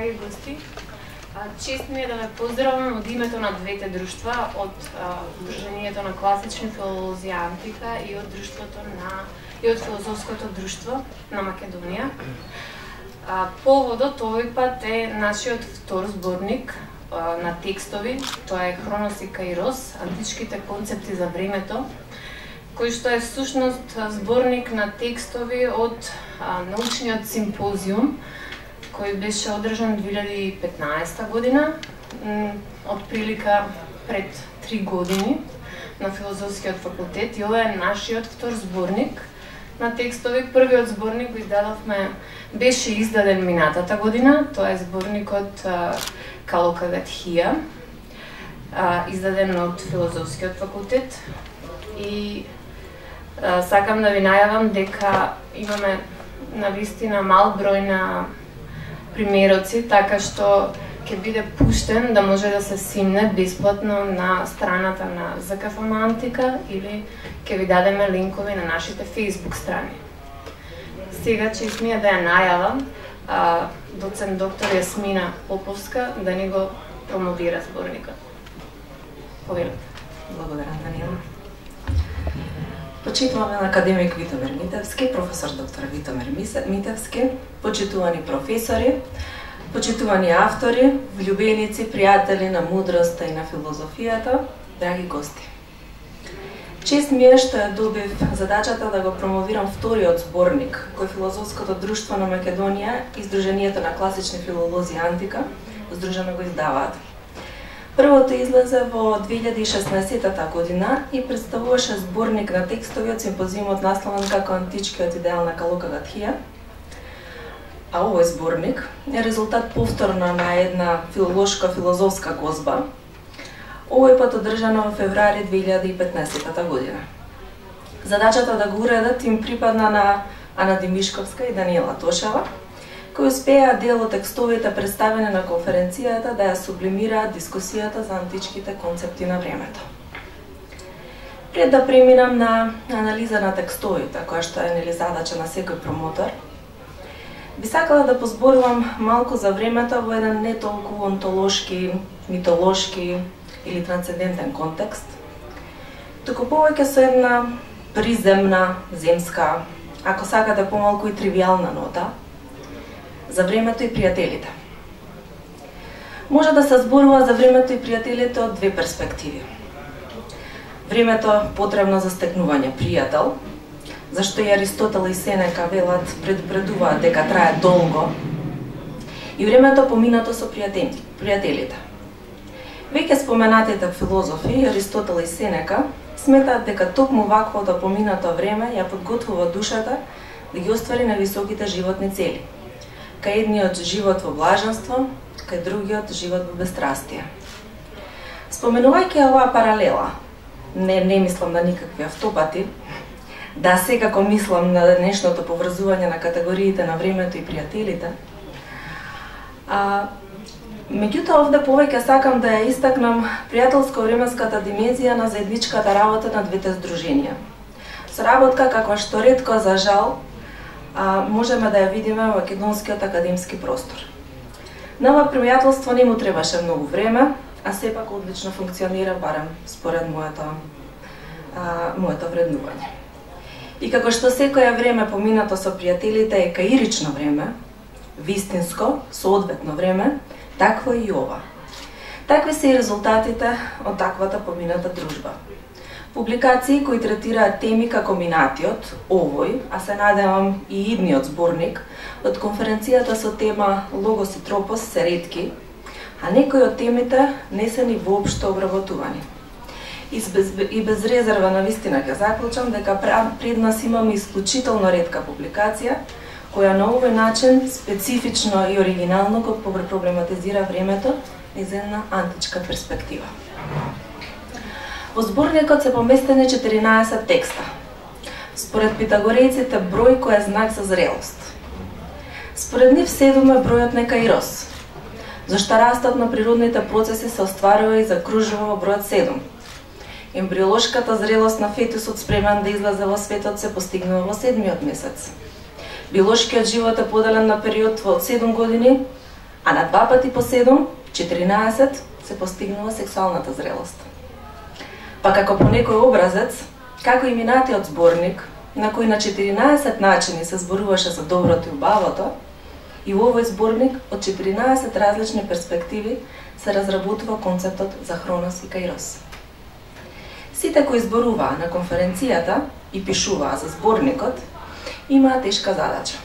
драги гости. Чест ми е да ве поздравам од името на двете друштва, од Сдруженијето на класични филолози Антика и од Филозофското друштво на Македонија. Поводот овој пат е нашиот втор зборник на текстови, тоа е Хронос и Каирос, античките концепти за времето, кој што е всушност зборник на текстови од научниот симпозиум, кој беше одржан 2015 година, од прилика пред 3 години на Филозофскиот факултет, и ова е нашиот втор зборник на текстови. Првиот зборник го издадовме, беше издаден минатата година, тоа е зборникот Калокагатхија, издаден од Филозофскиот факултет, и сакам да ви најавам дека имаме навистина мал број на примероци, така што ќе биде пуштен да може да се симне бесплатно на страната на ЗКФМ Антика или ќе ви дадеме линкови на нашите Facebook страни. Сега чест ми е да ја најавам доцент доктор Јасмина Поповска да ни го промовира зборникот. Повелете. Благодарам, Даниела. Почитуваме на академик Витомир Митевски, професор доктор Витомир Митевски, почитувани професори, почитувани автори, влюбеници, пријатели на мудроста и на филозофијата, драги гости. Чест ми е што ја добив задачата да го промовирам вториот зборник кој Филозофското друштво на Македонија и Сдруженијето на класични филолози Антика здружено го издаваат. Првото излезе во 2016 година и представуваше зборник на текстови од симпозиумот насловен како Античкиот идеал на Калокагатхија. А овој зборник е резултат повторно на една филолошко-филозофска гозба, овој пат одржана во февруари 2015 година. Задачата да го уредат им припадна на Ана Димишковска и Даниела Тошева, кои успеа дел од текстовите представени на конференцијата да ја сублимираат дискусијата за античките концепти на времето. Пред да преминам на анализа на текстовите, која што е задача на секој промотор, би сакала да позборувам малку за времето во еден не толку онтолошки, митолошки или трансцендентен контекст, туку повеќе со една приземна, земска, ако сакате помалку и тривијална нота, за времето и пријателите. Може да се зборува за времето и пријателите од две перспективи. Времето потребно за стекнување пријател, зашто и Аристотел и Сенека велат предупредуваат дека трае долго, и времето поминато со пријателите. Веќе споменатите филозофи Аристотел и Сенека сметаат дека токму ваквото поминато време ја подготвува душата да ги оствари на високите животни цели. Кај едниот живот во блаженство, кај другиот живот во бестрастие. Споменувајќи оваа паралела, не мислам на никакви автопати, да секако мислам на денешното поврзување на категориите на времето и пријателите. Меѓутоа овде повеќе сакам да ја истакнам пријателско-временската димензија на заедничката работа на двете здруженија. Соработка каква што ретко за жал можеме да ја видиме во македонскиот академски простор. На ова пријателство не му требаше многу време, а сепак одлично функционира, барем според моето вреднување. И како што секоја време поминато со пријателите е каирично време, вистинско, соодветно време, такво и ова. Такви се и резултатите од таквата помината дружба. Публикации кои третираат теми како минатиот, овој, а се надевам и идниот зборник, од конференцијата со тема Логос и Тропос се ретки, а некои од темите не се ни воопшто обработувани. И без резерва на вистина ќе заклучам дека пред нас имаме исклучително ретка публикација, која на овој начин специфично и оригинално го проблематизира времето низ една античка перспектива. Во зборникот се поместени 14 текста. Според питагорејците број кој е знак за зрелост. Според нив 7 е бројот на Каирос, зашто растот на природните процеси се остварува и закружува во бројот 7. Ембриолошката зрелост на фетусот спремен да излезе во светот се постигнува во 7-миот месец. Биолошкиот живот е поделен на период од 7 години, а на 2 пати по 7, 14, се постигнува сексуалната зрелост. Па како по некој образец, како и минатиот зборник, на кој на 14 начини се зборуваше за доброто и убавото, и во овој зборник од 14 различни перспективи се разработува концептот за Хронос и Каирос. Сите кои зборуваа на конференцијата и пишуваа за зборникот, имаа тешка задача.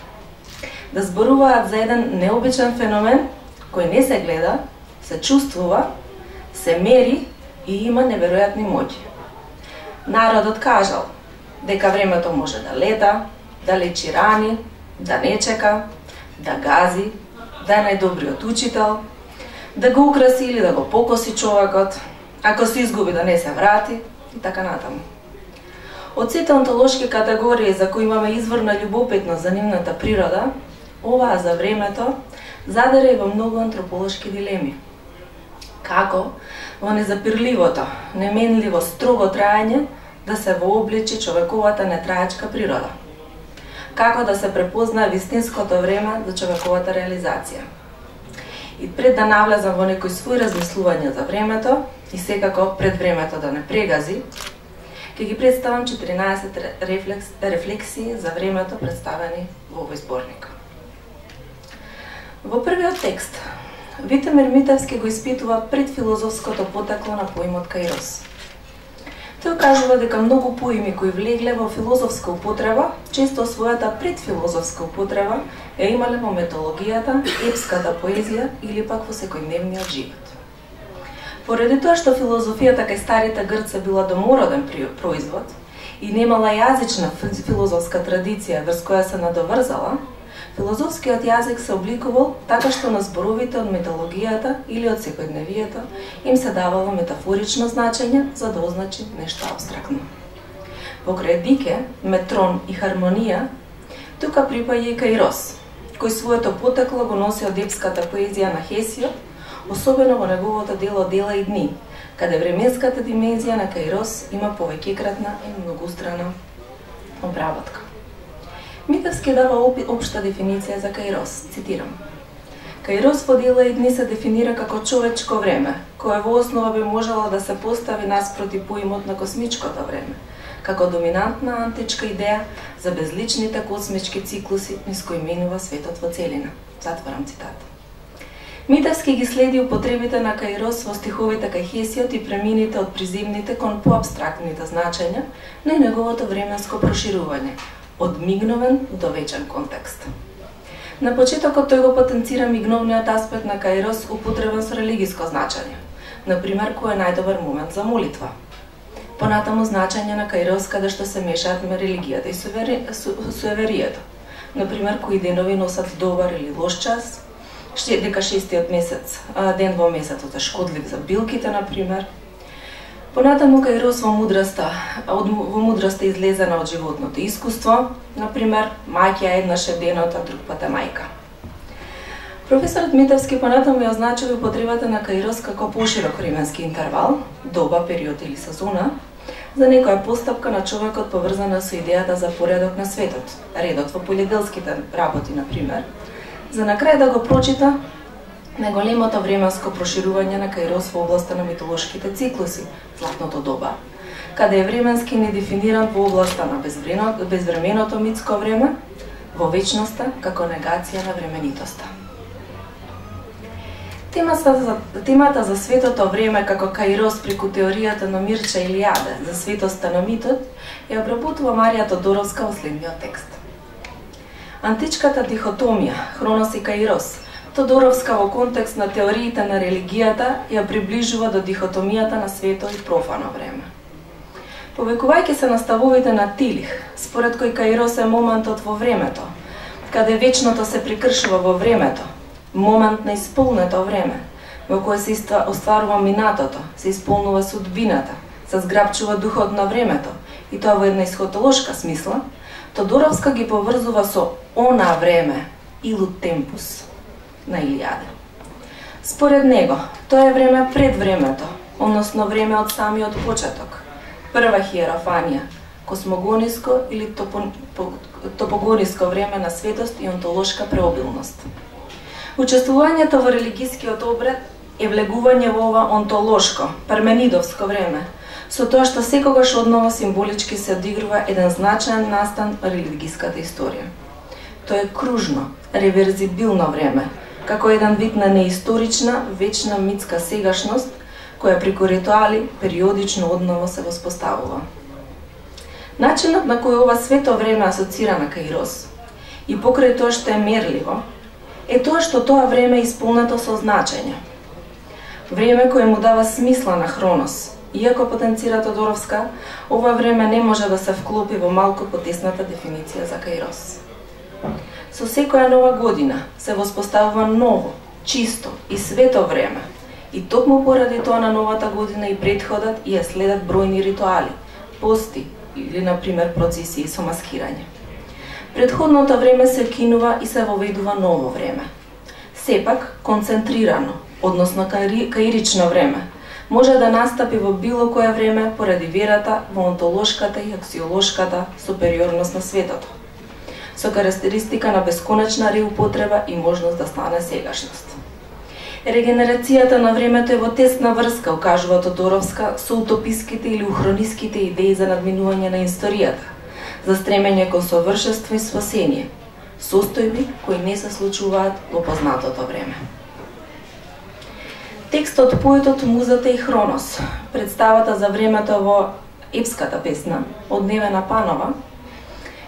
Да зборуваат за еден необичен феномен кој не се гледа, се чувствува, се мери и има неверојатни моќи. Народот кажал дека времето може да лета, да лечи рани, да не чека, да гази, да е најдобриот учител, да го украси или да го покоси човекот, ако се изгуби да не се врати и така натаму. Од сите онтолошки категории за кои имаме изворна љубопитност за нивната природа, оваа за времето задере во многу антрополошки дилеми. Како во незапирливото, неменливо, строго траење да се вообличи човековата нетраечка природа? Како да се препознае вистинското време за човековата реализација? И пред да навлезам во некои своји размислувања за времето и секако пред времето да не прегази, ќе ги представам 14 рефлексии за времето представени во овој зборник. Во првиот текст, Витомир Митевски го испитува предфилозофското потекло на поимот Каирос. Тој кажува дека многу поими кои влегле во филозофска употреба, често својата предфилозофска употреба ја имале во метологијата, епската поезија или пак во секојдневниот живот. Поради тоа што филозофијата кај старите грци била домороден производ и немала јазична филозофска традиција врз која се надоврзала, филозофскиот јазик се обликувал така што на зборовите од метологијата или од секојдневието им се давало метафорично значење за да означи нешто апстрактно. Покрај дике, метрон и хармонија, тука припаѓа и Каирос, кој своето потекло го носи од епската поезија на Хесиод, особено во неговото дело Дела и дни, каде временската димензија на Каирос има повеќекратна и многустрана обработка. Митевски дава општа дефиниција за Каирос, цитирам. Каирос во Дела и дни се дефинира како човечко време, кое во основа би можело да се постави наспроти поимот на космичкото време, како доминантна античка идеја за безличните космички циклуси низ кои минува светот во целина. Затварам цитат. Митевски ги следи употребите на Каирос во стиховите кај Хесиод и премините од приземните кон поабстрактните значења на неговото временско проширување, од мигновен до вечен контекст. На почетокот тој го потенцира мигновниот аспект на Каирос употребен со религиско значење, например кој е најдобар момент за молитва. Понатаму значење на Каирос каде што се мешаат религијата и суеверието, например кои денови носат добар или лош час, дека шестиот месец, ден во месецот е шкодлив за билките, например. Понатаму Каирос во мудрата излезена од животното искуство, например, маќа еднаш е денот, а друг пат е мајка. Професорот Митевски понатаму ја означува употребата на Каирос како поширок временски интервал, доба, период или сезона, за некоја постапка на човекот поврзана со идејата за поредок на светот, редот во полиделските работи, например, за на крај да го прочита најголемото временско проширување на Каирос во областа на митолошките циклуси, златното доба, каде е временски недефиниран во областа на безвременото митско време, во вечноста како негација на временитоста. Темата за светото време како Каирос преку теоријата на Мирча Илијаде за светоста на митот ја обработува Марија Тодоровска во следниот текст. Античката дихотомија Хронос и Каирос Тодоровска во контекст на теориите на религијата ја приближува до дихотомијата на свето и профано време. Повекувајќи се на ставовите на Тилих, според кој Каирос е моментот во времето, каде вечното се прикршува во времето, момент на исполнето време, во кое се остварува минатото, се исполнува судбината, се зграбчува духот на времето, и тоа во една исхотолошка смисла, Тодоровска ги поврзува со она време, илут темпус, на Илијаде. Според него, тоа е време пред времето, односно време од самиот почеток, прва хиерофанија, космогониско или топогониско време на светост и онтолошка преобилност. Учествувањето во религискиот обред е влегување во ова онтолошко, парменидовско време, со тоа што секогаш одново символички се одигрува еден значаен настан во религиската историја. Тоа е кружно, реверзибилно време, како еден вид на неисторична, вечна митска сегашност, која преку ритуали периодично одново се воспоставува. Начинот на кој ова свето време асоцира на Каирос, и покрај тоа што е мерливо, е тоа што тоа време е исполнето со значење. Време кое му дава смисла на Хронос. Иако потенцира Тодоровска, ова време не може да се вклопи во малку потесната дефиниција за Каирос. Со секоја нова година се воспоставува ново, чисто и свето време. И токму поради тоа на новата година и претходат и ја следат бројни ритуали, пости или, например, процесии со маскирање. Предходното време се кинува и се воведува ново време. Сепак, концентрирано, односно каирично време, може да настапи во било кое време поради верата во онтолошката и аксиолошката супериорност на светото, со карактеристика на бесконечна реупотреба и можност да стане сегашност. Регенерацијата на времето е во тесна врска, укажува Тодоровска, со утописките или ухрониските идеи за надминување на историјата, за стремење кон совршенство и спасение, состојби кои не се случуваат во познатото време. Текстот Поетот, музата и Хронос, представата за времето во епската песна, од Невена Панова,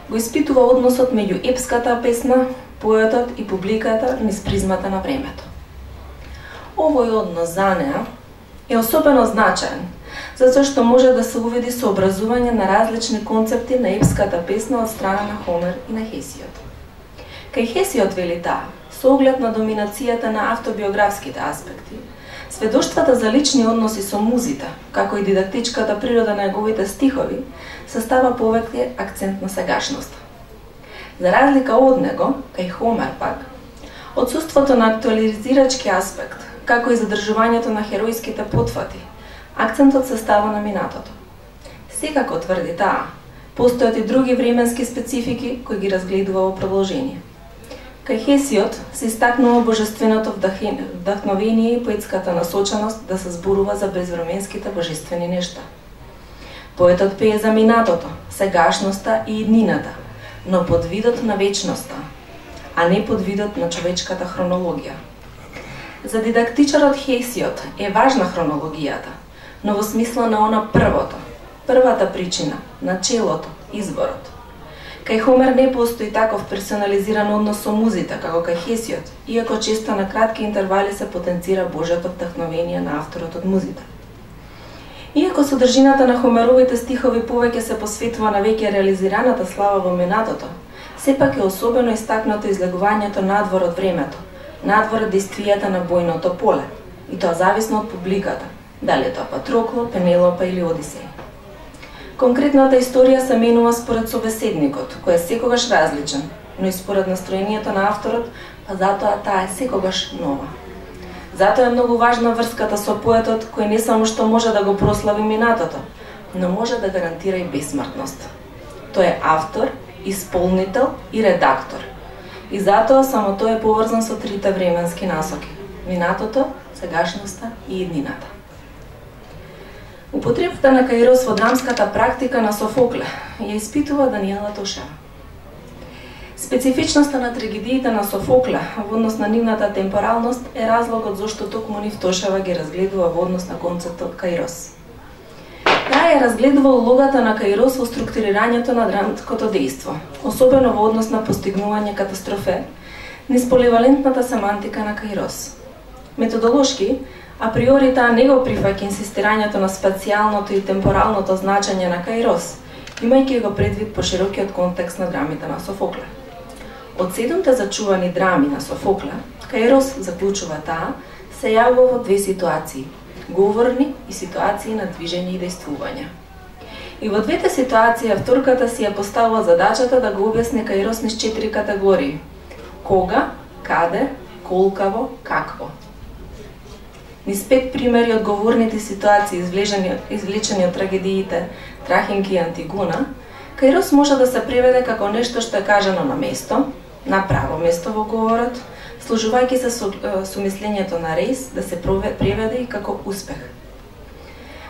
го испитува односот меѓу епската песна, поетот и публиката низ призмата на времето. Овој однос за неа е особено значаен, затоа што може да се увиди сообразување на различни концепти на епската песна од страна на Хомер и на Хесиод. Кај Хесиод вели таа, со оглед на доминацијата на автобиографските аспекти, сведоштвата за лични односи со музите, како и дидактичката природа на неговите стихови, се става повеќе акцент на сегашноста. За разлика од него, кај Хомер пак, отсуството на актуализирачки аспект, како и задржувањето на херојските потфати, акцентот се става на минатото. Секако, тврди таа, постојат и други временски специфики кои ги разгледува во продолжение. Кај Хесиод се истакнува божественото вдахновение и поетската насоченост да се зборува за безвременските божествени нешта. Поетот пее за минатото, сегашноста и иднината, но под видот на вечноста, а не под видот на човечката хронологија. За дидактичарот Хесиод е важна хронологијата, но во смисла на она првото, првата причина, начелото, изборот. Кај Хомер не постои таков персонализиран однос со музите, како кај Хесиод, иако често на кратки интервали се потенцира Божјото вдахновение на авторот од музите. Иако содржината на Хомеровите стихови повеќе се посветува на веќе реализираната слава во минатото, сепак е особено истакнато излегувањето надвор од времето, надвор од действијата на бојното поле, и тоа зависно од публиката, дали е тоа Патрокло, Пенелопа или Одисеј. Конкретната историја се менува според собеседникот, кој е секогаш различен, но и според настроението на авторот, па затоа таа е секогаш нова. Затоа е многу важна врската со поетот, кој не само што може да го прослави минатото, но може да гарантира и бесмртност. Тој е автор, исполнител и редактор. И затоа само тој е поврзан со трите временски насоки: минатото, сегашноста и иднината. Употребата на Каирос во драмската практика на Софокле ја испитува Даниела Тошева. Специфичноста на трагедиите на Софокле во однос на нивната темпоралност е разлогот зашто токму нив Тошева ги разгледува во однос на концептот Каирос. Таа ја разгледува улогата на Каирос во структурирањето на драмското дејство, особено во однос на постигнување катастрофе, низ поливалентната семантика на Каирос. Методолошки, априори таа не го прифаќа инсистирањето на спацијалното и темпоралното значење на Каирос, имајќи го предвид поширокиот контекст на драмите на Софокле. Од 7 зачувани драми на Софокле, Каирос, заклучува таа, се јавува во две ситуации: говорни и ситуации на движење и дејствување. И во двете ситуации авторката си ја поставува задачата да го објасни Каирос низ 4 категории: кога, каде, колкаво, какво. Низ 5 примери од говорните ситуации извлечени од трагедиите Трахинки и Антигуна, Каирос може да се преведе како нешто што е кажано на место, на право место во говорот, служувајќи се со мислењето на Рейс да се преведе и како успех.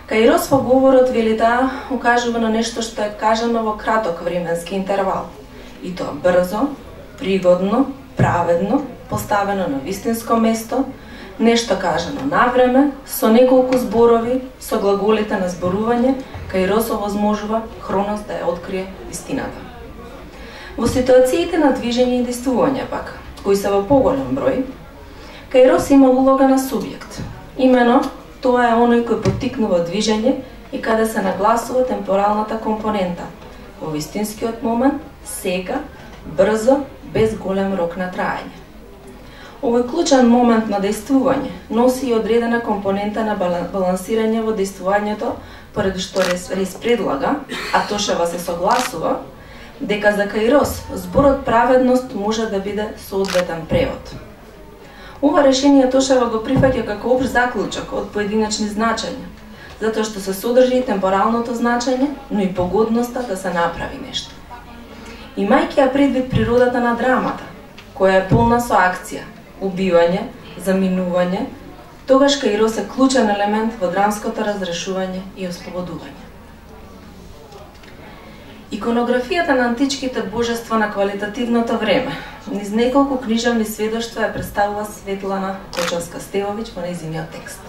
Каирос во говорот вели да укажува на нешто што е кажано во краток временски интервал, и тоа брзо, пригодно, праведно, поставено на вистинско место, нешто кажано навреме, со неколку зборови, со глаголите на зборување, Каирос овозможува Хронос да ја открие вистината. Во ситуациите на движење и действување пак, кои се во поголем број, Каирос има улога на субјект. Имено, тоа е оној кој поттикнува движење и каде се нагласува темпоралната компонента, во вистинскиот момент, сега, брзо, без голем рок на траење. Овој клучен момент на действување носи и одредена компонента на балансирање во действувањето, поради што Рейс предлага, а Тошева се согласува, дека за Каирос зборот праведност може да биде соодветен превод. Ова решение Тошева го прифаќа како општ заклучок од поединечни значења, затоа што се содржи и темпоралното значење, но и погодноста да се направи нешто. Имајќи ја предвид природата на драмата, која е полна со акција, убивање, заминување, тогаш Каирос е клучен елемент во драмското разрешување и ослободување. Иконографијата на античките божества на квалитативното време, низ неколку книжевни сведоштва ја представува Светлана Кочовска-Стевовиќ во нејзиниот текст.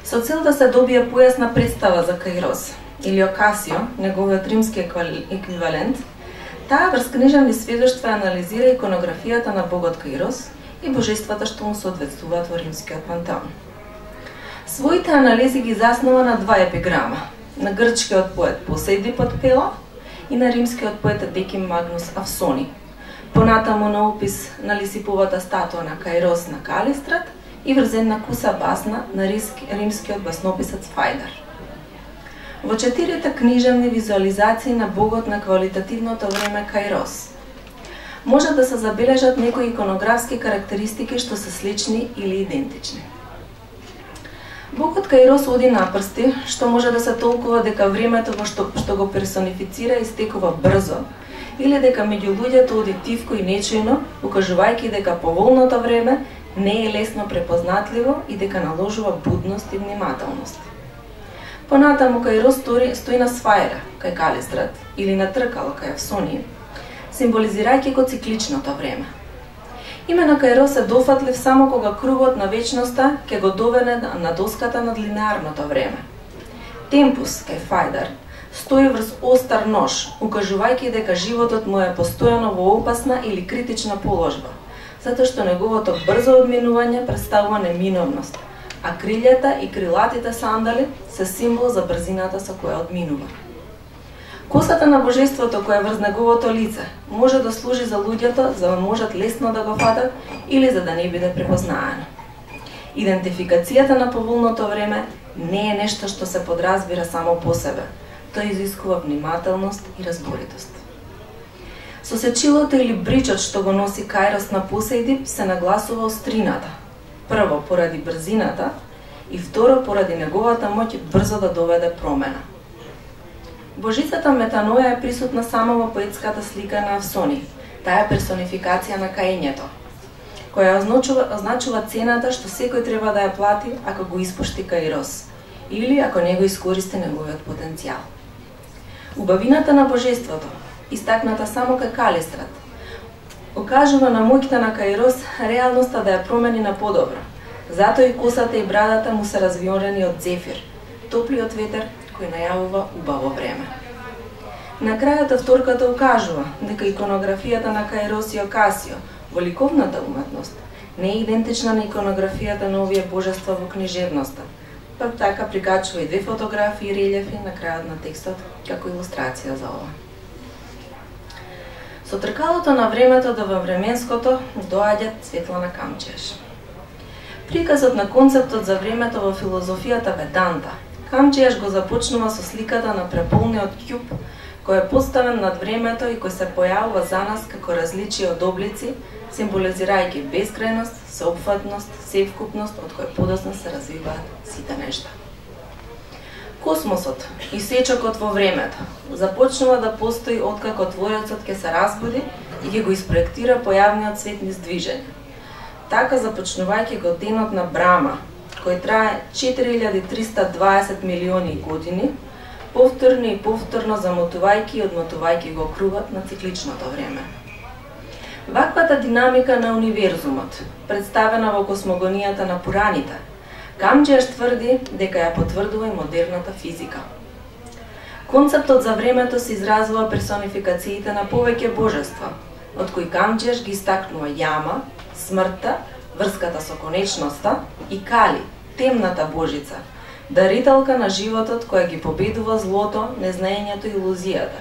Со цел да се добие појасна представа за Каирос, или Окасио, неговиот римски еквивалент, таа врз книжевни сведоштва анализира иконографијата на богот Каирос и божествата што му соодветствуваат во римскиот пантеон. Своите анализи ги заснова на два епиграма, на грчкиот поет Посейдип од Пела и на римскиот поет Деким Магнус Авсони, понатаму на опис на Лисиповата статуа на Каирос на Калистрат и врз една куса басна на римскиот баснописец Фајдар. Во четирите книжевни визуализации на богот на квалитативното време Каирос може да се забележат некои иконографски карактеристики што се слични или идентични. Богот Каирос оди напрсти, што може да се толкува дека времето во што го персонифицира истекува брзо, или дека меѓу луѓето оди тивко и нечујно, укажувајќи дека поволното време не е лесно препознатливо и дека наложува будност и внимателност. Понатаму Каирос стои на сфаера, кај Калистрат, или на тркало кај Авсонија, символизирајќи го цикличното време. Имено Каирос е дофатлив само кога кругот на вечноста ќе го доведе на доската над линеарното време. Темпус, кај Фајдар, стои врз остар нож, укажувајќи дека животот му е постојано во опасна или критична положба, затоа што неговото брзо одминување представува неминовност, а крилјата и крилатите сандали се символ за брзината со која одминува. Косата на божеството која врз неговото лице може да служи за луѓето за да можат лесно да го фатат или за да не биде препознаено. Идентификацијата на поволното време не е нешто што се подразбира само по себе, тоа изискува внимателност и разборитост. Со сечилото или бричот што го носи Каирос на Посейдип се нагласува острината, прво поради брзината и второ поради неговата моќ брзо да доведе промена. Божицата Метаноја е присутна само во поетската слика на Авсони. Таа е персонификација на каењето, која означува цената што секој треба да ја плати ако го испушти Каирос, или ако не го искористи неговиот потенцијал. Убавината на божеството, истакната само кај Калистрат, окажува на моќта на Каирос реалноста да ја промени на подобро. Затоа и косата и брадата му се развиорени од зефир, топлиот ветер кој најавува убаво време. На крајот авторката укажува дека иконографијата на Каирос и Окасио во ликовната уметност не е идентична на иконографијата на овие божества во книжевноста, па така прикачува и две фотографии и релјефи на крајот на текстот како илустрација за ова. Со тркалото на времето до временското доаѓа Светлана Камчиеш. Приказот на концептот за времето во филозофијата Веданта, Камчиеш го започнува со сликата на преполниот кјуб, кој е поставен над времето и кој се појавува за нас како различие од облици, символизирајќи безкрајност, сеопфатност, севкупност од кој подоцна се развиваат сите нешта. Космосот и сечокот во времето започнува да постои откако Творецот ќе се разбуди и ќе го испроектира појавниот свет низ движење, така започнувајќи го денот на Брама, кој трае 4320 милиони години, повторно и повторно замотувајќи и одмотувајќи го кругот на цикличното време. Ваквата динамика на универзумот, представена во космогонијата на Пураните, Камџиаш тврди дека ја потврдува и модерната физика. Концептот за времето се изразува персонификациите на повеќе божества, од кои Камџиаш ги истакнува Јама, смртта, врската со конечноста, и Кали, темната божица, дарителка на животот која ги победува злото, незнаењето и илузијата,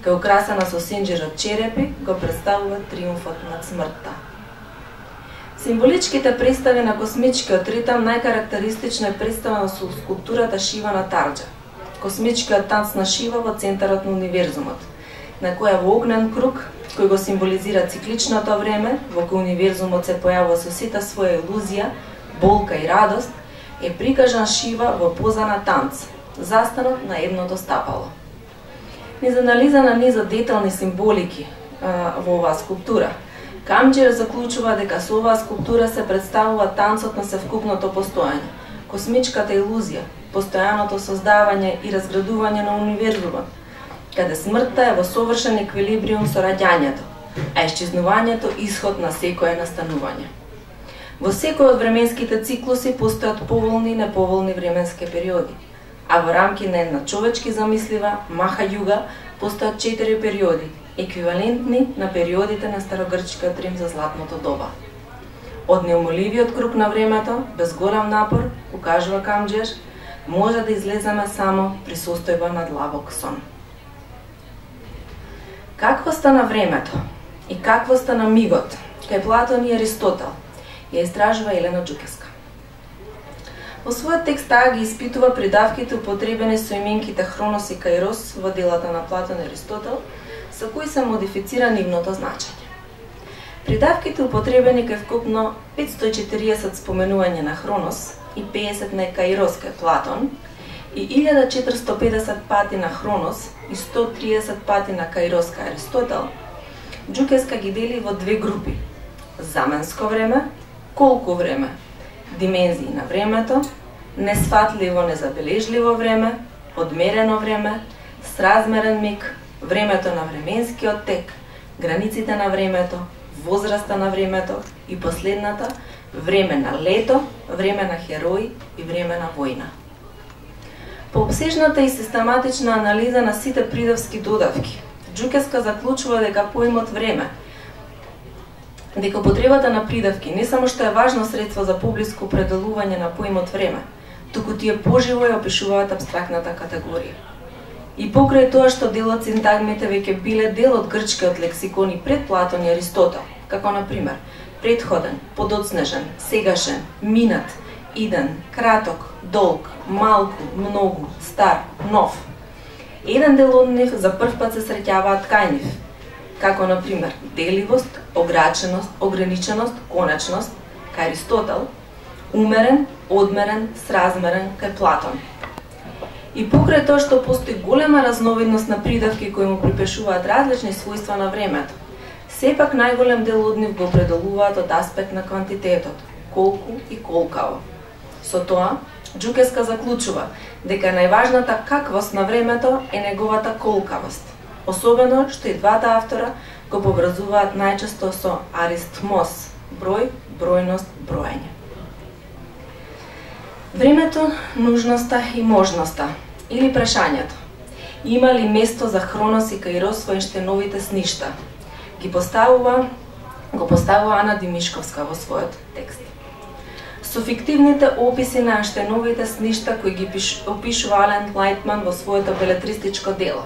која украсена со синџир од черепи го представува триумфот над смртта. Символичките представи на космичкиот ритам најкарактеристично е представено со скулптурата Шива на Тарџа, космичкиот танц на Шива во центарот на универзумот, на која во огнен круг, кој го символизира цикличното време, во кој универзумот се појавува со сите своја илузија, болка и радост, е прикажан Шива во поза на танц, застанот на едното стапало. Низ анализа на низот детални символики во оваа скулптура, Камџиаш заклучува дека со оваа скулптура се представува танцот на севкупното постојање, космичката илузија, постојаното создавање и разградување на универзумот, каде смртта е во совршен еквилибриум со раѓањето, а исчезнувањето исход на секое настанување. Во секој од временските циклуси постојат поволни и неповолни временски периоди, а во рамки на една човечки замислива Маха Југа постојат 4 периоди, еквивалентни на периодите на старогрчкиот Рим за златното доба. Од неумоливиот круг на времето, без голем напор, укажува Камџиаш, може да излеземе само при состојба на длабок сон. Каквоста на времето и каквоста на мигот, кај Платон и Аристотел, ја истражува Елена Џукеска. Во својот текст таа ги испитува придавките употребени со именките Хронос и Каирос во делата на Платон и Аристотел, со кои се модифицира нивното значење. Придавките употребени кај вкупно 540 споменување на Хронос и 50 на Каирос кај Платон и 1450 пати на Хронос и 130 пати на Каирос кај Аристотел, Џукеска ги дели во две групи: заменско време, колку време, димензии на времето, несфатливо, незабележливо време, одмерено време, сразмерен миг, времето на временскиот тек, границите на времето, возраста на времето и последната време на лето, време на херои и време на војна. По обсежната и систематична анализа на сите придавски додавки, Џукеска заклучува дека поимот време, дека употребата на придавки не само што е важно средство за поблиско определување на поимот време, туку тие поживо ја опишуваат апстрактната категорија. И покрај тоа што дел од синтагмите веќе биле дел од грчкиот лексикон и пред Платон и Аристотел, како на пример предходен, подоцнежен, сегашен, минат, иден, краток, долг, малку, многу, стар, нов. Еден дел од нив за прв пат се среќаваат кај нив, како на пример деливост, ограниченост, ограниченост, конечност кај Аристотел, умерен, одмерен, сразмерен кај Платон. И покрај тоа што постои голема разновидност на придавки кои му припишуваат различни својства на времето, сепак најголем дел од нив го определуваат од аспект на квантитетот, колку и колкаво. Со тоа, Џукеска заклучува дека најважната каквост на времето е неговата колкавост, особено што и двата автора го поврзуваат најчесто со аристмос, број, бројност, броење. Времето, нужноста и можноста, или прашањето, има ли место за Хронос и Каирос во Ејнштејновите сништа, го поставува Ана Димишковска во својот текст. Со фиктивните описи на Ејнштејновите сништа кои ги опишува Ален Лајтман во своето белетристичко дело,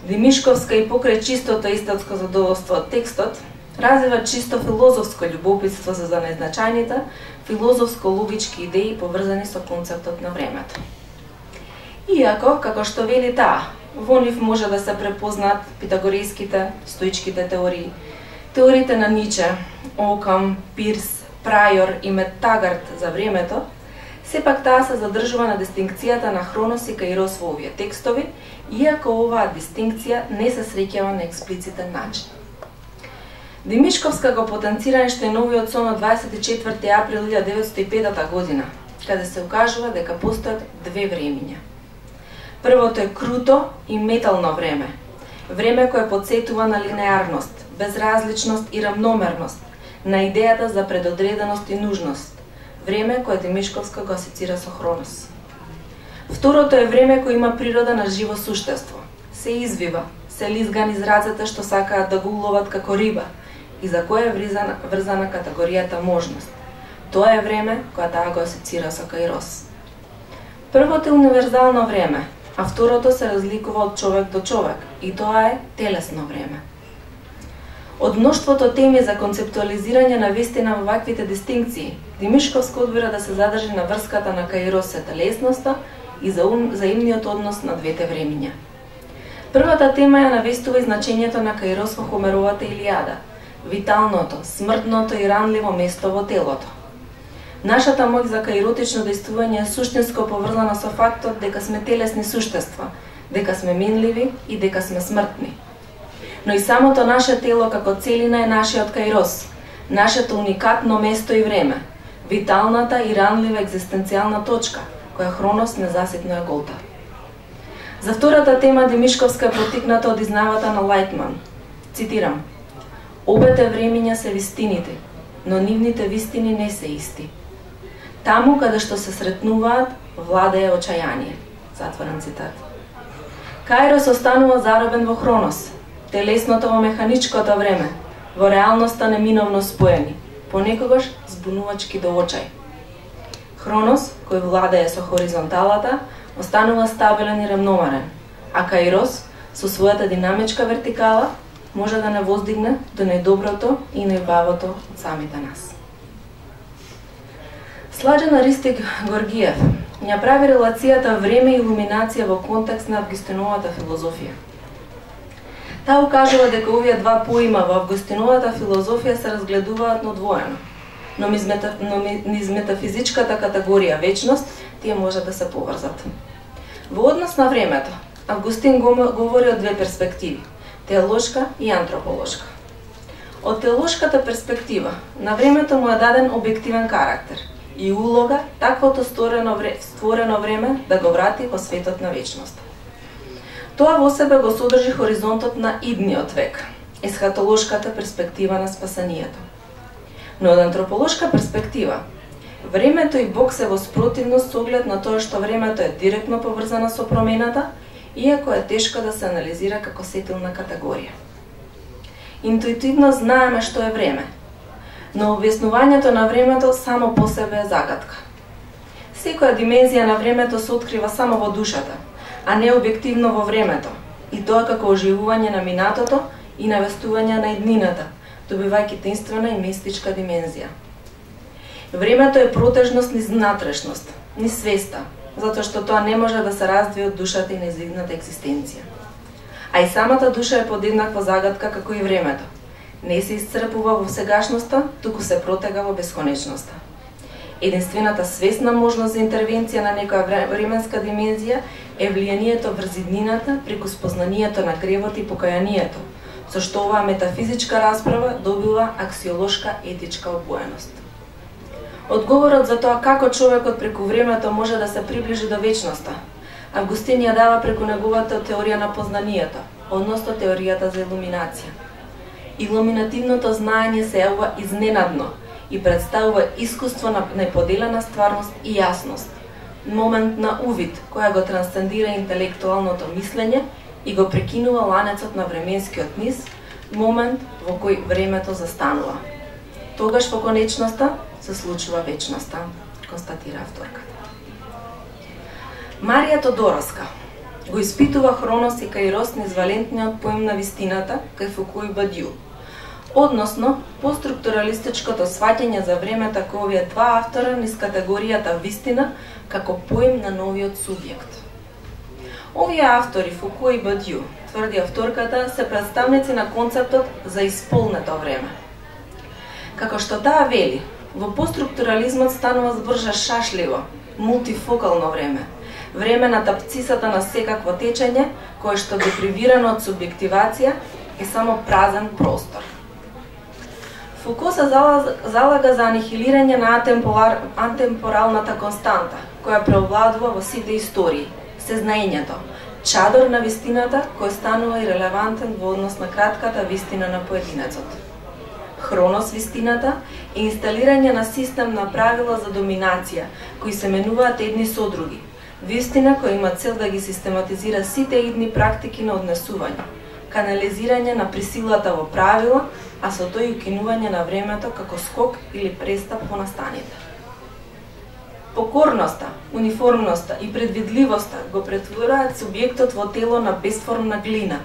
Димишковска и покрај чистото естетско задоволство од текстот, развива чисто филозофско љубопитство за најзначајните филозофско-логички идеи поврзани со концептот на времето. Иако, како што вели таа, во нив може да се препознаат питагорејските, стоичките теории, теориите на Ниче, Окам, Пирс, Прајор и Метагарт за времето, сепак таа се задржува на дистинкцијата на Хронос и Каирос во овие текстови, иако оваа дистинкција не се среќава на експлицитен начин. Демишковска го потенцира Ејнштејновиот сон од 24 април 1905 година, каде се укажува дека постојат две времиња. Првото е круто и метално време, време кое потсетува на линеарност, безразличност и рамномерност, на идејата за предодреденост и нужност, време кое Демишковска го асоцира со Хронос. Второто е време кој има природа на живо суштество, се извива, се лизга низ рацете што сакаат да го уловат како риба и за која е врзана категоријата можност. Тоа е време која таа го асоцира со Каирос. Првото е универзално време, а второто се разликува од човек до човек и тоа е телесно време. Од мноштвото теми за концептуализирање на вистина во ваквите дистинкции, Демишковска одбира да се задржи на врската на Каирос со телесноста и заимниот однос на двете времиња. Првата тема ја навестува и значењето на Каирос во Хомеровата Илијада, виталното, смртното и ранливо место во телото. Нашата моќ за каиротично действување е суштинско поврзана со фактот дека сме телесни суштества, дека сме минливи и дека сме смртни. Но и самото наше тело како целина е нашиот Каирос, нашето уникатно место и време, виталната и ранлива екзистенцијална точка, која Хронос незаситно ја голта. За втората тема Демишковска е потикната од изнајавата на Лајтман. Цитирам: "Обете времиња се вистините, но нивните вистини не се исти. Таму каде што се сретнуваат, владее очајание." Затворен цитат. Каирос останува заробен во Хронос, телесното во механичкото време, во реалноста неминовно споени, понекогаш збунувачки до очај. Хронос, кој владее со хоризонталата, останува стабилен и рамномерен, а Каирос, со својата динамичка вертикала, може да не воздигне до најдоброто и најубавото од самите нас. Сладжан Аристик Горгиев ја прави релацијата време и илуминација во контекст на Августиновата филозофија. Таа укажува дека овие два поима во Августиновата филозофија се разгледуваат одвоено, но низ метафизичката категорија вечност тие може да се поврзат. Во однос на времето, Августин говори од две перспективи – теолошка и антрополошка. Од теолошката перспектива, на времето му е даден објективен карактер и улога таквото створено време да го врати во светот на вечност. Тоа во себе го содржи хоризонтот на идниот век, есхатолошката перспектива на спасението. Но од антрополошка перспектива, времето и Бог се во спротивност со оглед на тоа што времето е директно поврзано со промената, иако е тешко да се анализира како сетилна категорија. Интуитивно знаеме што е време, но објаснувањето на времето само по себе е загадка. Секоја димензија на времето се открива само во душата, а не објективно во времето, и тоа како оживување на минатото и навестување на иднината, добивајќи таинствена и мистичка димензија. Времето е протежност низ внатрешност, низ свеста, затоа што тоа не може да се раздвие од душата и нејзината екзистенција. А и самата душа е подеднаква загадка како и времето. Не се исцрпува во сегашноста, туку се протега во бесконечноста. Единствената свесна можност за интервенција на некоја временска димензија е влијанието врз иднината преку спознанието на гревот и покајанието, со што оваа метафизичка расправа добива аксиолошка етичка обоеност. Одговорот за тоа како човекот преку времето може да се приближи до вечноста, Августин ја дава преку неговата теорија на познанието, односно теоријата за илуминација. Илуминативното знаење се јавува изненадно и представува искуство на неподелена стварност и јасност, момент на увид која го трансцендира интелектуалното мислење и го прекинува ланецот на временскиот низ, момент во кој времето застанува. Тогаш во конечноста се случува вечноста, констатира авторката. Марија Тодороска го испитува Хронос и Каирос низ валентниот поим на вистината кај Фуко и Бадју, односно постструктуралистичкото сваќање за времето кој овие два автора низ категоријата вистина како поим на новиот субјект. Овие автори, Фуко и Бадју, тврди авторката, се представници на концептот за исполнето време. Како што таа вели, во постструктурализмот станува зборжа шашливо, мултифокално време, време на тапцисата на секакво течење, кое што депривирано од субјективација е само празен простор. Фуко се залага за анихилирање на атемпоралната константа, која преовладува во сите истории, сезнаењето, чадор на вистината кој станува ирелевантен во однос на кратката вистина на поединецот. Хронос вистината е инсталирање на систем на правила за доминација, кои се менуваат едни со други. Вистина која има цел да ги систематизира сите идни практики на однесување, канализирање на присилата во правила, а со тој укинување на времето како скок или престап во настаните. Покорноста, униформноста и предвидливоста го претвораат субјектот во тело на безформна глина.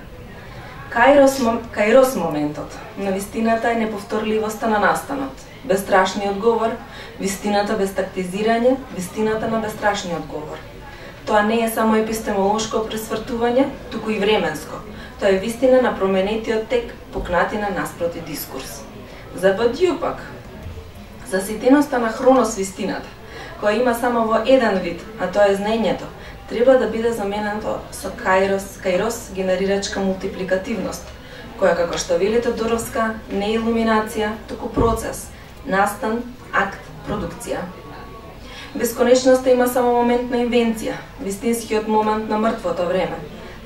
Каирос моментот на вистината е неповторливоста на настанот, бестрашниот говор, вистината без тактизирање, вистината на бестрашниот говор. Тоа не е само епистемолошко пресвртување, туку и временско. Тоа е вистина на променетиот тек, пукнатина наспроти дискурс. За Бадју пак, заситеноста на хронос вистината, која има само во еден вид, а тоа е знаењето, треба да биде заменето со каирос генерирачка мултипликативност, која, како што вели Тодоровска, не е илуминација, туку процес, настан, акт, продукција. Бесконечноста има само момент на инвенција, вистинскиот момент на мртвото време.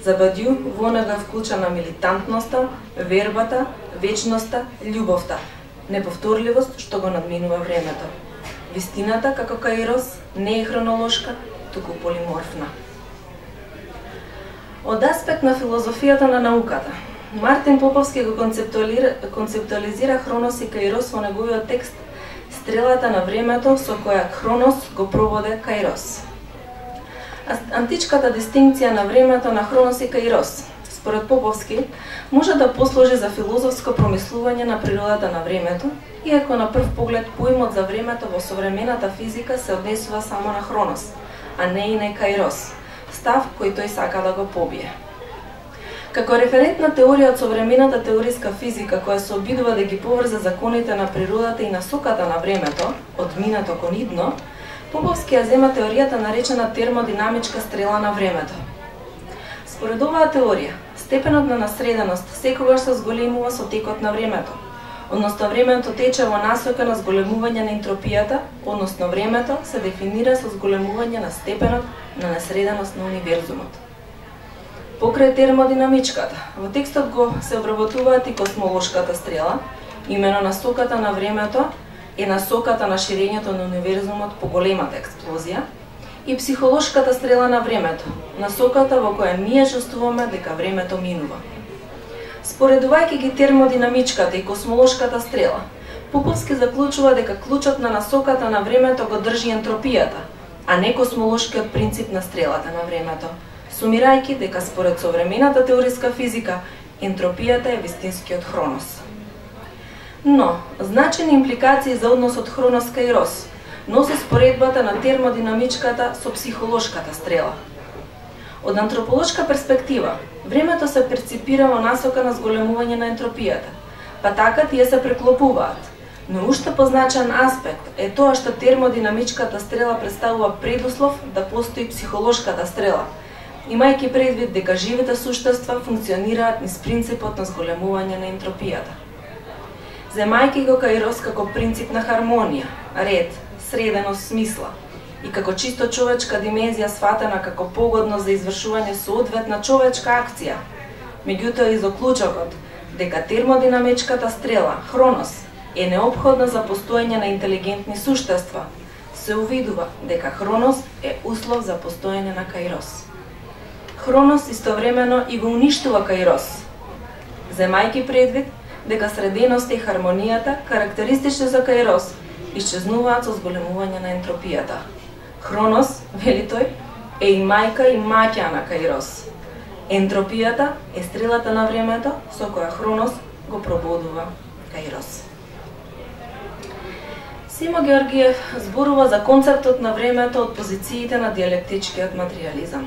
За Бадју во нега вклучена милитантноста, вербата, вечноста, љубовта, неповторливост што го надминува времето. Вистината, како каирос, не е хронолошка, туку полиморфна. Од аспект на филозофијата на науката, Мартин Поповски го концептуализира хронос и каирос во неговиот текст Стрелата на времето со која хронос го проводе каирос. Античката дистинкција на времето на хронос и каирос, според Поповски, може да послужи за филозофско промислување на природата на времето, иако на прв поглед поимот за времето во современата физика се однесува само на хронос, а не и на каирос, став кој тој сака да го побие. Како референтна теорија од современата теориска физика која се обидува да ги поврзе законите на природата и насоката на времето, од минато кон идно, Поповски ја зема теоријата наречена термодинамичка стрела на времето. Според оваа теорија, степенот на насреденост секогаш се зголемува со текот на времето, односно времето тече во насока на зголемување на ентропијата, односно времето се дефинира со зголемување на степенот на насреденост на универзумот. Покрај термодинамичката, во текстот го се обработуваат и космолошката стрела, имено насоката на времето е насоката на ширењето на универзумот по големата експлозија, и психолошката стрела на времето, насоката во која ние чувствуваме дека времето минува. Споредувајќи ги термодинамичката и космолошката стрела, Поповски заклучува дека клучот на насоката на времето го држи ентропијата, а не космолошкиот принцип на стрелата на времето, сумирајќи дека според современата теориска физика, ентропијата е вистинскиот хронос. Но, значени импликации за односот хронос-каирос носи споредбата на термодинамичката со психолошката стрела. Од антрополошка перспектива, времето се перципира во насока на зголемување на ентропијата, па така тие се преклопуваат. Но уште позначен аспект е тоа што термодинамичката стрела представува предуслов да постои психолошката стрела, имајќи предвид дека живите суштества функционираат низ принципот на зголемување на ентропијата. Земајќи го каирос како принцип на хармонија, ред, среденост смисла и како чисто човечка димензија сватена како погодно за извршување соодветна човечка акција, меѓутоа и заклучокот дека термодинамичката стрела, хронос, е неопходна за постоење на интелигентни суштества, се увидува дека хронос е услов за постоење на каирос. Хронос истовремено и го уништува каирос, земајќи предвид дека среденоста и хармонијата, карактеристични за каирос, исчезнуваат со зголемување на ентропијата. Хронос, вели тој, е и мајка и маќа на каирос. Ентропијата е стрелата на времето со која хронос го прободува каирос. Симо Георгиев зборува за концептот на времето од позициите на диалектичкиот материализам.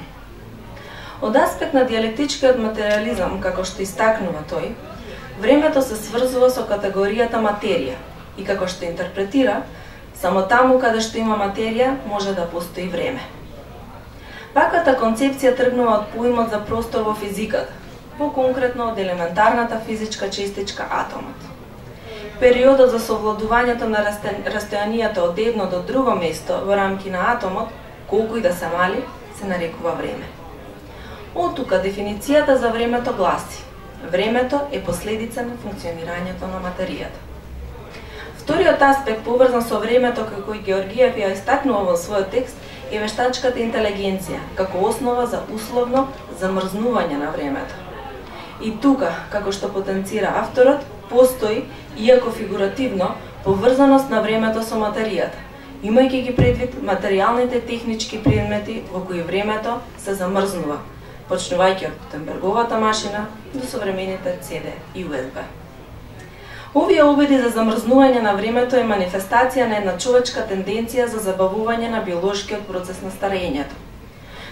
Од аспект на диалектичкиот материализам, како што истакнува тој, времето се сврзува со категоријата материја и како што интерпретира, само таму каде што има материја може да постои време. Ваквата концепција тргнува од поимот за простор во физиката, поконкретно од елементарната физичка честичка атомот. Периодот за совладувањето на растојанието од едно до друго место во рамки на атомот, колку и да се мали, се нарекува време. Од тука дефиницијата за времето гласи: времето е последица на функционирањето на материјата. Вториот аспект поврзан со времето кој Георгиев ја истакнува во својот текст е вештачката интелигенција како основа за условно замрзнување на времето. И тука, како што потенцира авторот, постои, иако фигуративно, поврзаност на времето со материјата, имајќи ги предвид материјалните технички предмети во кои времето се замрзнува, почнувајќи од Гутенберговата машина до современите CD и USB. Овие обиди за замрзнување на времето е манифестација на една човечка тенденција за забавување на биолошкиот процес на старењето.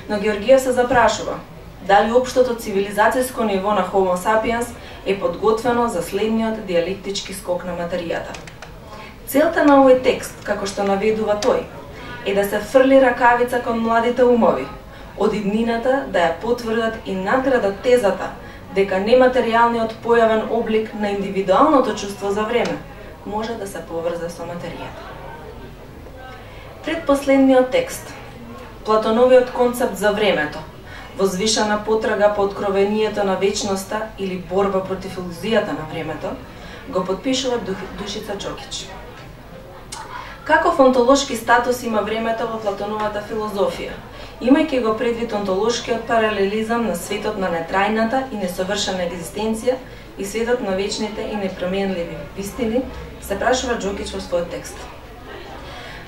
Но Георгиев се запрашува дали општото цивилизацијско ниво на Homo sapiens е подготвено за следниот диалектички скок на материјата. Целта на овој текст, како што наведува тој, е да се фрли ракавица кон младите умови, од иднината да ја потврдат и надградат тезата дека нематеријалниот појавен облик на индивидуалното чувство за време може да се поврзе со материјата. Предпоследниот текст, Платоновиот концепт за времето, возвишена потрага по откровението на вечноста или борба против илузијата на времето, го подпишува Душица Џокич. Каков онтолошки статус има времето во Платоновата филозофија, имајќи го предвид онтолошкиот паралелизам на светот на нетрајната и несовршена екзистенција и светот на вечните и непроменливи вистини, се прашува Џокич во својот текст.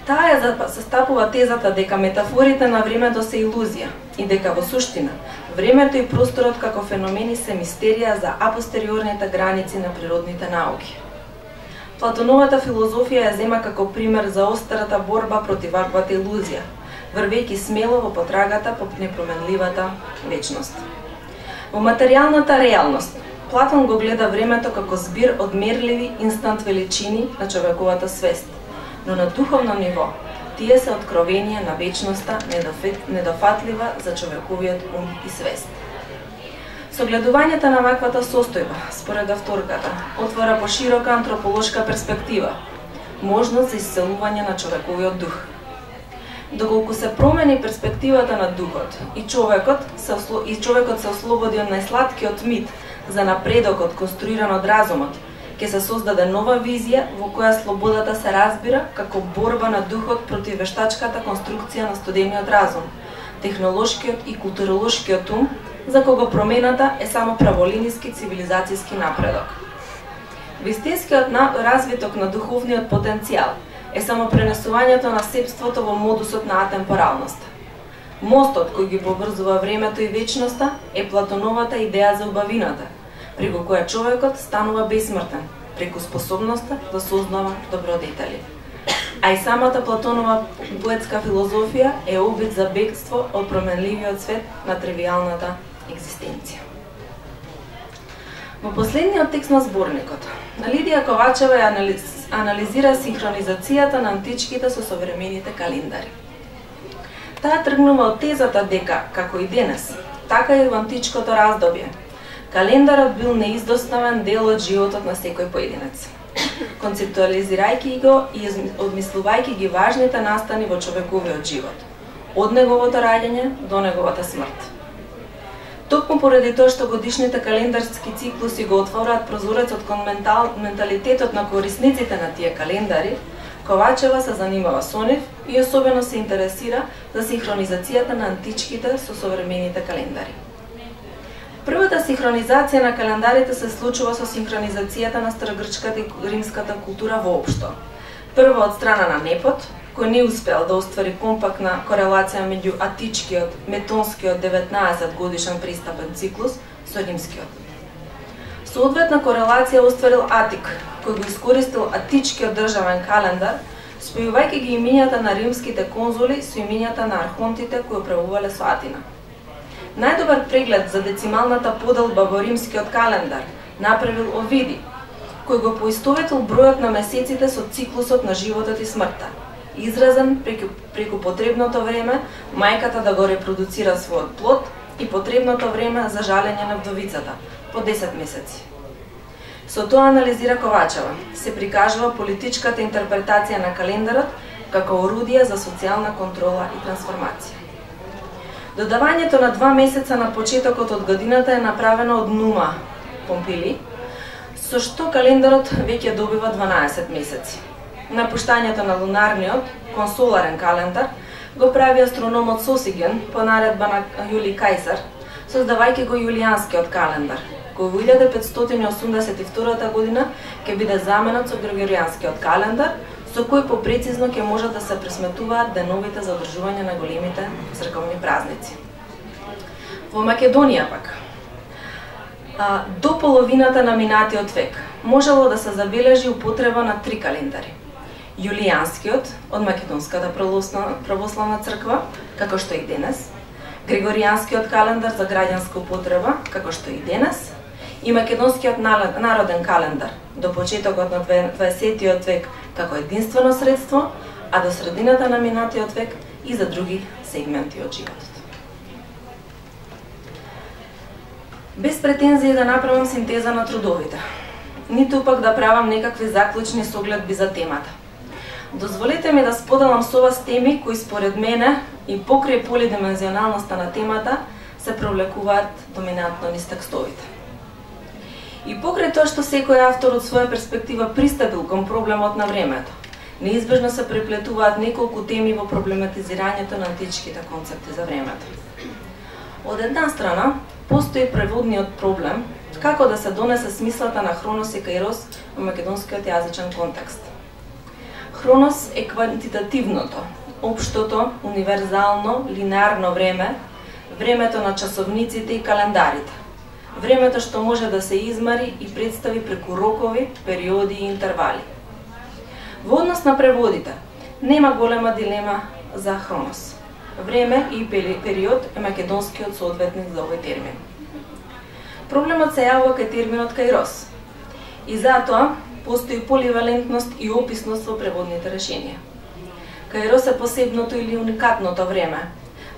Таа ја застапува тезата дека метафорите на времето се илузија и дека во суштина времето и просторот како феномени се мистерија за апостериорните граници на природните науки. Платоновата филозофија ја зема како пример за острата борба против ваквата илузија, врвејќи смело во потрагата по непроменливата вечност. Во материјалната реалност, Платон го гледа времето како збир од мерливи инстант величини на човековата свест, но на духовно ниво, тие се откровение на вечноста недофатлива за човековиот ум и свест. Согледувањето на ваквата состојба, според авторката, отвора поширока антрополошка перспектива, можност за исцелување на човековиот дух. Доколку се промени перспективата на духот и човекот се ослободи од најсладкиот мит за напредокот конструиран од разумот, ќе се создаде нова визија во која слободата се разбира како борба на духот против вештачката конструкција на студениот разум, технолошкиот и културолошкиот ум, за кого промената е само праволиниски цивилизацијски напредок. Вистинскиот развиток на духовниот потенцијал е само пренесувањето на себството во модусот на атемпоралност. Мостот кој ги поврзува времето и вечноста е Платоновата идеја за убавината, преку која човекот станува бесмртен, преку способноста да сознава добродетели. А и самата Платонова поетска филозофија е обид за бегство од променливиот свет на тривијалната екзистенција. Во последниот текст на зборникот, Лидија Ковачева ја анализира синхронизацијата на античките со современите календари. Таа тргнува од тезата дека, како и денес, така и во античкото раздобје, календарот бил неиздоставен дел од животот на секој поединец. Концептуализирајќи го и одмислувајќи ги важните настани во човековиот живот, од неговото раѓање до неговата смрт. Токму поради тоа што годишните календарски циклуси го отвораат прозорецот кон менталитетот на корисниците на тие календари, Ковачева се занимава со нив и особено се интересира за синхронизацијата на античките со современите календари. Првата синхронизација на календарите се случува со синхронизацијата на старогрчката и римската култура воопшто. Прво од страна на Непот, кој не успел да оствари компактна корелација меѓу атичкиот, метонскиот 19 годишен пристапен циклус со римскиот. Соодветна корелација остварил Атик, кој го искористил атичкиот државен календар, спојувајќи ги имињата на римските конзули со имињата на архонтите кои управувале со Атина. Најдобар преглед за децималната поделба во римскиот календар направил Овиди, кој го поистоветил бројот на месеците со циклусот на животот и смртта, изразен преку потребното време мајката да го репродуцира својот плод и потребното време за жалење на вдовицата, по 10 месеци. Со тоа, анализира Ковачева, се прикажува политичката интерпретација на календарот како орудие за социјална контрола и трансформација. Додавањето на 2 месеца на почетокот од годината е направено од Нума Помпили, со што календарот веќе добива 12 месеци. Напуштањето на лунарниот, консоларен календар, го прави астрономот Сосиген по наредба на Јулиј Кајсар, создавајќи го јулијанскиот календар, кој во 1582 година ќе биде заменет со Григоријанскиот календар, со кој попрецизно ќе можат да се пресметуваат деновите за одржување на големите црковни празници. Во Македонија пак, до половината на минатиот век можело да се забележи употреба на 3 календари. Јулијанскиот од Македонската православна црква, како што и денес, Григоријанскиот календар за граѓанска употреба, како што и денес, и Македонскиот народен календар до почетокот на 20 век како единствено средство, а до средината на минатиот век и за други сегменти од животот. Без претензии да направам синтеза на трудовите, ниту пак да правам некакви заклучни согледби за темата. Дозволете ми да споделам со вас теми кои според мене и покрај полидимензионалноста на темата се провлекуваат доминантно низ текстовите. И покрај тоа што секој автор од своја перспектива пристапил кон проблемот на времето, неизбежно се преплетуваат неколку теми во проблематизирањето на античките концепти за времето. Од една страна, постои преводниот проблем како да се донесе смислата на Хронос и Каирос во македонскиот јазичен контекст. Хронос е квантитативното, општото, универзално, линеарно време, времето на часовниците и календарите, времето што може да се измери и представи преку рокови, периоди и интервали. Во однос на преводите, нема голема дилема за Хронос. Време и период е македонскиот соодветник за овој термин. Проблемот се јавува кај терминот Каирос. И затоа постои поливалентност и описност во преводните решенија. Каирос е посебното или уникатното време,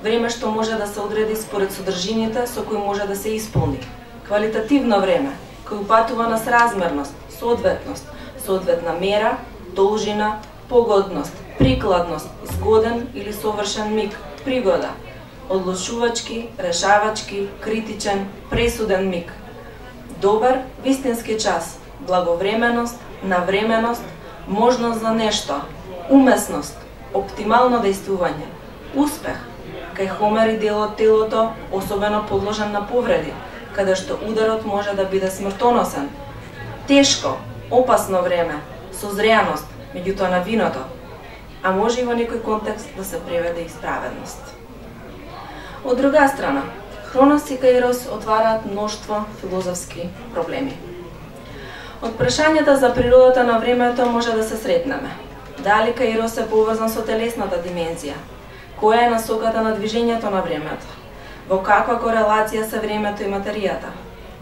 време што може да се одреди според содржините со кои може да се исполни. Квалитативно време, кој упатува на сразмерност, соодветност, соодветна мера, должина, погодност, прикладност, згоден или совршен миг, пригода, одлучувачки, решавачки, критичен, пресуден миг, добар, вистински час, благовременост, навременост, можност за нешто, умесност, оптимално дејствување, успех, кај Хомер и делот телото особено подложен на повреди, каде што ударот може да биде смртоносен, тешко, опасно време, созреаност, меѓутоа на виното, а може и во некој контекст да се преведе исправеност. Од друга страна, Хронос и Каирос отвараат мноштво филозофски проблеми. Од прашањата за природата на времето може да се сретнеме. Дали Каирос е поврзан со телесната димензија? Која е насоката на движењето на времето? Во каква корелација се времето и материјата?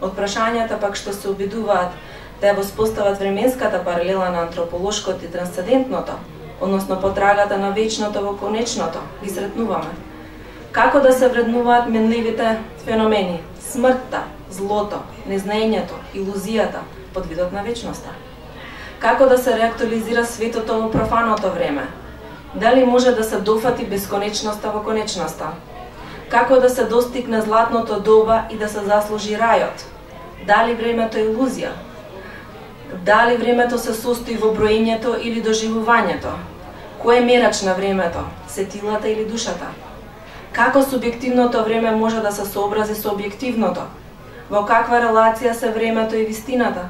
Од прашањата пак што се обидуваат да ја воспостават временската паралела на антрополошкото и трансцендентното, односно потрагата на вечното во конечното, ги сретнуваме. Како да се вреднуваат менливите феномени, смртта, злото, незнаењето, илузијата, под видот на вечноста? Како да се реактуализира светото во профаното време? Дали може да се дофати бесконечноста во конечноста? Како да се достигне златното доба и да се заслужи рајот? Дали времето е илузија? Дали времето се состои во броењето или доживувањето? Кој е мерач на времето? Сетилата или душата? Како субјективното време може да се сообрази со објективното? Во каква релација се времето и вистината?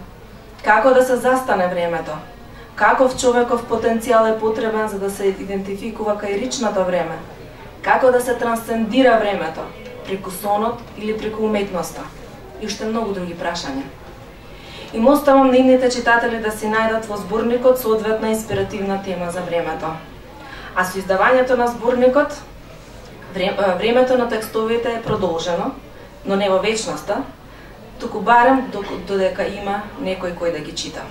Како да се застане времето? Каков човеков потенцијал е потребен за да се идентификува каиричното време? Како да се трансцендира времето? Преку сонот или преку уметноста? И уште многу други прашања. Им оставам нивните читатели да си најдат во зборникот соодветна инспиративна тема за времето. А со издавањето на зборникот, времето на текстовите е продолжено, но не во вечноста, туку барем додека има некој кој да ги чита.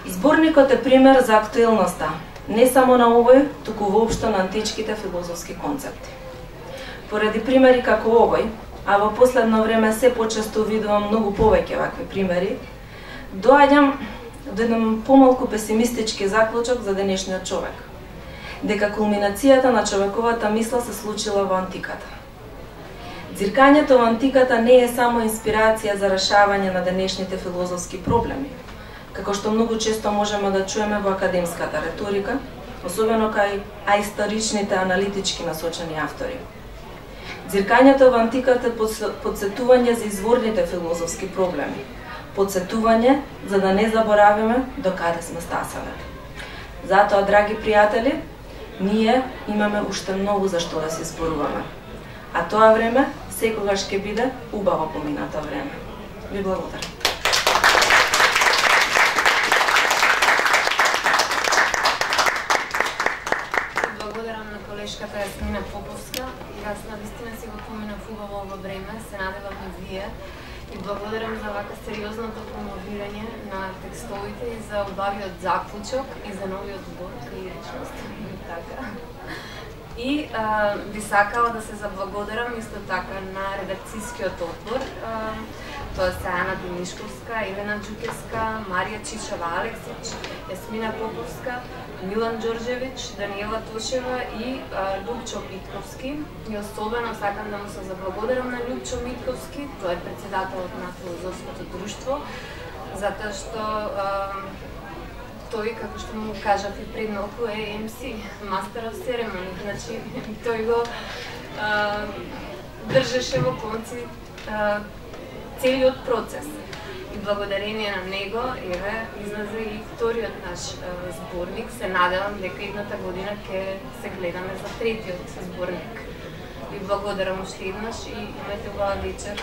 Зборникот е пример за актуелноста, не само на овој, туку воопшто на античките филозофски концепти. Поради примери како овој, а во последно време се почесто видувам многу повеќе вакви примери, доаѓам до еден помалку песимистички заклучок за денешниот човек. Дека кулминацијата на човековата мисла се случила во антиката. Ѕиркањето во антиката не е само инспирација за решавање на денешните филозофски проблеми, како што многу често можеме да чуеме во академската реторика, особено кај аисторичните аналитички насочени автори. Ձиркањето во антиката е подсетување за изворните филозофски проблеми, подсетување за да не заборавиме до каде сме стасале. Затоа, драги пријатели, ние имаме уште многу за што да се зборуваме. А тоа време секогаш ќе биде убаво поминато време. Ви благодарам. Благодарам на колешката Јасмина Поповска. Јас навистина си го поминав убаво во време, се надевам и вие. И благодарам за вака сериозното промовирање на текстовите и за убавиот заклучок и за новиот збор лиричност. Така. И би сакала да се заблагодарам исто така на редакцијскиот одбор. Тоа се Ана Димишковска, Елена Џукевска, Марија Чичева-Алексич, Јасмина Поповска, Милан Ѓорѓевиќ, Даниела Тошева и Љупчо Митковски. И особено сакам да му се заблагодарам на Љупчо Митковски, тој е претседателот на Филозофското друштво, затоа што тој, како што му кажав и пред малку, е MC, Master of Ceremony, значи тој го држеше во конци целиот процес. И благодарение на него, еве, излезе и вториот наш зборник. Се надевам дека едната година ќе се гледаме за третиот зборник. И благодарам уште еднаш и имајте убава вечер.